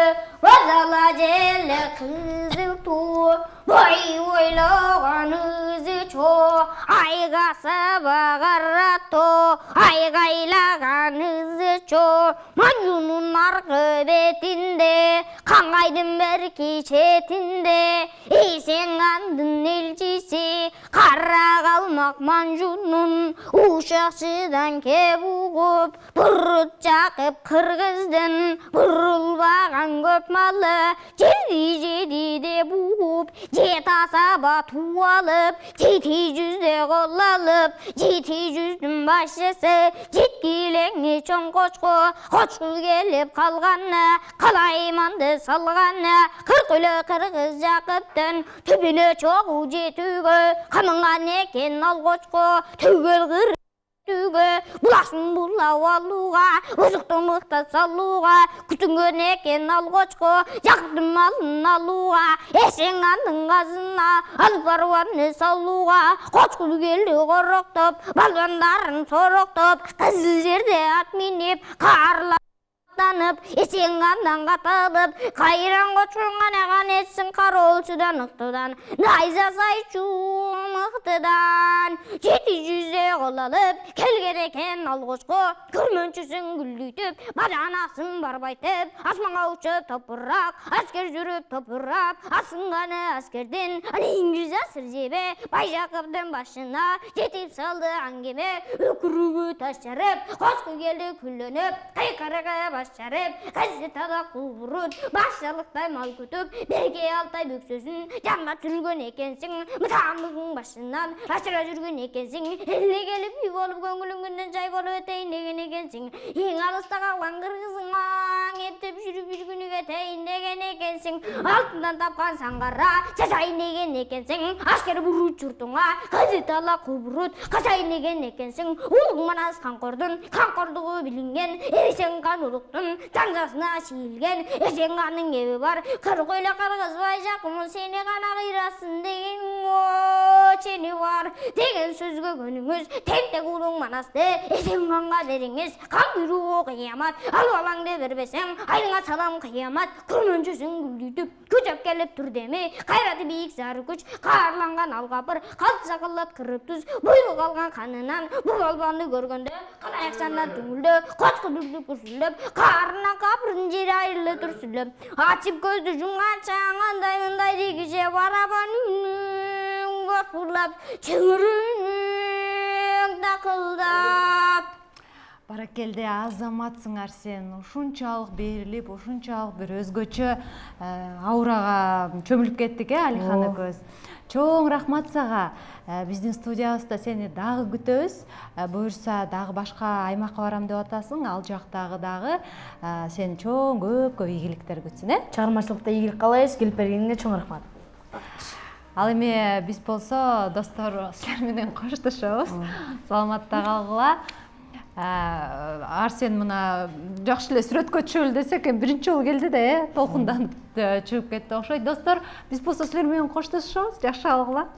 базала желе кызыл туу, бой ойлогон өзү чоо, айга сабагарато, айгайлаган өзү чоо, Манжунун аркы бетинде, Каңайдын берки четинде, Эсенгандын элчиси, кара калмак Манжунун, ушакчыдан кеп угуп, бурут жакып кыргыздын, бурулбаган көп малы, жеди жеди деп угуп, жет асаба туу алып, жети жүздө кол алып, жети жүздүн башчысы, жеткилеңи чоң кочко, кочку келип калганы, калайманды салганы, кырк эле кыргыз Жакыптын түбүнө чогуу жетүүгө, камынган экен ал кочко, түгөл кыр булашын булап алууга, узукту мыктап салууга, күтүнгөн экен ал кочко, Жакыптын малын алууга, Эсенгандын казына алып барбаны салууга, кочку келди короктоп, балбандарын сороктоп, кызыл жерде ат минип, каарлап Эсенгандан каталып, кайран кочкун канаган этсин кароолчудан ыктыдан, найза сайчу мыктыдан, жети жүздө кол алып, келген экен ал кочко, көрмөнчүсүн гүлдүйтүп, баданасын барбайтып, асманга учуп топурак, аскер жүрүп топурап, асынганы аскердин, иңгиз асыр жебе, Байжакыптын башына жетип салды аңгеме, өкүрүгү таш жарып, кочку келди күлөнүп, кайкарага жарып, газетада кубурут, башчалыктай мал күтүп, берге алтай бүксөсүн, жанга түргөн экенсиң, мытамдын башынан, ашыра жүргөн экенсиң, эле келип үй болуп, көңүлүңдөн жай болуп этейин деген экенсиң, эң алыста калган кыргызың маң эптеп жүрүп жүргүнүгө этейин деген экенсиң, алтындан тапкан саңгара, чачайын деген экенсиң, аскер буруп журтуңа, газетала кубурут, качайын деген экенсиң, улуң Манас Канкордун, Канкордугу билинген, эрисең канулуктун, таңдасына шиилген, Эсенганның эби бар, кырк эле кыргызбай жакын сени гана кыйрасын деген, о, чени бар деген сөзгө көнүңүз, тентек улуң Манасты Эсенганга бериңиз, кан бирүү кыямат, алып алаңды бербесең, айыңа салам кыямат, көрмөнчүсүн гүлдүйтүп, күчөп келип турдеми, кайраты бийик зары күч, каарланган алгапыр, калча кылат кырып туз, буйрук алган канынан, бул албанды көргөндө, калаякчандан түңүлдө, кочку дүрдүп күрсүлөп, каарынан капырдын жери айрылы түрсүлөп, ачып көздү жумганча андай мындай дегиже барабан гопурлап, чөңүрүң такылдап. Баракелде, азаматсыңар сен, ушунчалык берилип, ушунчалык бир өзгөчө аурага чөмүлүп кеттик, э, Алихан экөөбүз. Чоң рахмат сага. Биздин студиябызда сени дагы күтөбүз. Буюрса дагы башка аймакка барам деп атасың, ал жактагы дагы сени чоң көп көп ийгиликтер күтсүн, э? Чыгармачылыкта ийгилик каалайбыз, келип бергениңе чоң рахмат. Ал эми биз болсо достор силер менен коштошобуз. Саламатта калгыла. Арсен мына жакшы эле сүрөткө түшөлү десек, биринчи жолу келди да, э, толкундан чыгып кетти окшойт. Достор, биз болсо силер менен коштошобуз. Жакшы калгыла.